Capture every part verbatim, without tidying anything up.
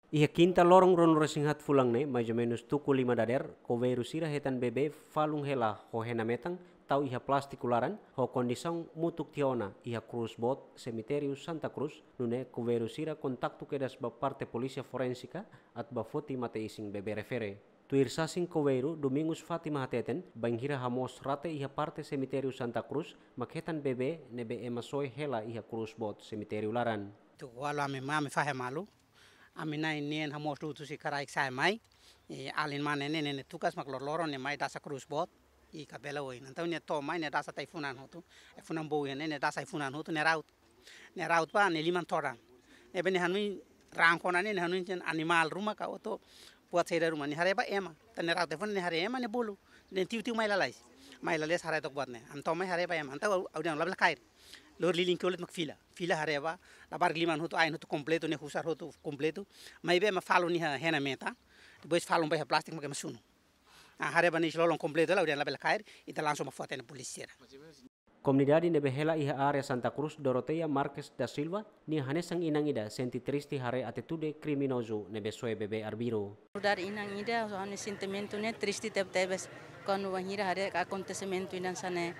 Iha kinta loron ruanulu-resin-haat fulan ne'e, mais ou menus tuku lima dadeer, koveiru sira hetan bebé falun hela ho hena metan, tau iha plástiku laran, ho kondisaun mutuk tiha ona iha krús boot semitériu Santa Cruz, nune'e koveiru sira kontaktu kedas ba parte polísia forénsika atu ba foti mate-isin bebé refere. Tuir sasin koveiru Domingos Fátima hateten, bainhira hamoos rate iha parte semitériu Santa Cruz, mak hetan bebé ne'ebé ema soe hela iha krús boot semitériu laran. Tuku ualu ami mai, ami fahe malu. Ami na'in-neen hamoos dudu husi kraik sa'e mai. I alin mane ne'e, ne'e tukas mak loroloron ne'e mai dasa krús boot. I kabela oin. Entaun nia to'o mai nia dasa tiha ai-funan hotu. Ai-funan boot ne'e, nia dasa ai-funan hotu, nia raut. Nia raut ba, nia liman todan. Ne'ebé nia hanoin rangko ona ne'e, nia hanoin dehan animál ruma ka oto buat saida ruma. Nia haree ba ema. Entaun nia raut ai-funan, nia haree ema, nia bolu. Nia tiu-tiu mai lalais. Mai lalais haree took buat ne'e. Ami to'o mai haree ba ema. Entaun ha'u, ha'u dehan labele kaer. Lori lilin ke olit mak fila. Fila haree ba, labarik liman hotu, ain hotu kompletu, nia husar hotu kompletu. Maibé ema falun iha hena metan. Depois falun ba iha plástiku mak ema sunu. Ah, haree ba nia isin-lolon kompletu hela, ha'u dehan labele kaer, ita langsung ba fó tiha ona polísia. Komunidade ne'ebé hela iha área Santa Cruz, Doroteia Marques da Silva, nia hanesan inan ida sente triste haree atitude kriminozu ne'ebé soe bebé arbiru. Nu'udar inan ida, ha'u-nia sentimentu ne'e triste tebetebes kuandu bainhira haree akontesimentu ida hanesan ne'e.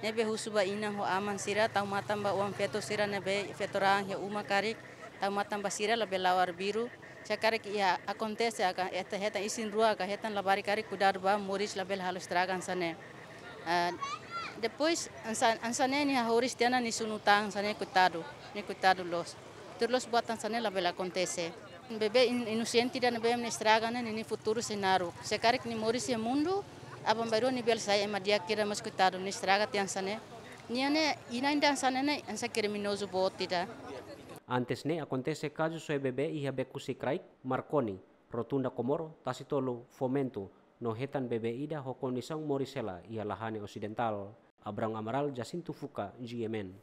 Ne'ebé husu ba inan ho aman sira, tau matan ba oan-feto sira ne'ebé feto-raan iha uma karik, tau matan ba sira labele la'o arbiru. Se karik iha akontese ka, ita hetan isin-rua ka hetan labarik karik, kuidadu ba moris labele halo estraga hanesan ne'e. Ah, depois, hanesan, hanesan ne'e nia hahoris tiha ona nia sunu tan hanesan ne'e, koitadu, nia koitadu loos. Tuir loos buat hanesan ne'e labele akontese. Bebé in-, inosente ida ne'ebé mak nia estraga ne'e, nia, nia futuru sei naruk. Se karik nia moris iha mundu, aban-bainrua nia bele sai ema di'ak ida, mas koitadu, nia estraga tiha hanesan ne'e. Nia ne'e, inan ida hanesan ne'e ne'e, hanesan kriminozu boot ida. Antes ne'e akontese kazu soe bebé iha Beku Sikraik, Marconi, Rotunda Comoro, Tasitolu, Fomento, no hetan bebé ida ho kondisaun moris hela iha Lahane Osidentál. Abrão Amaral, Jacinto Fuca, G M N.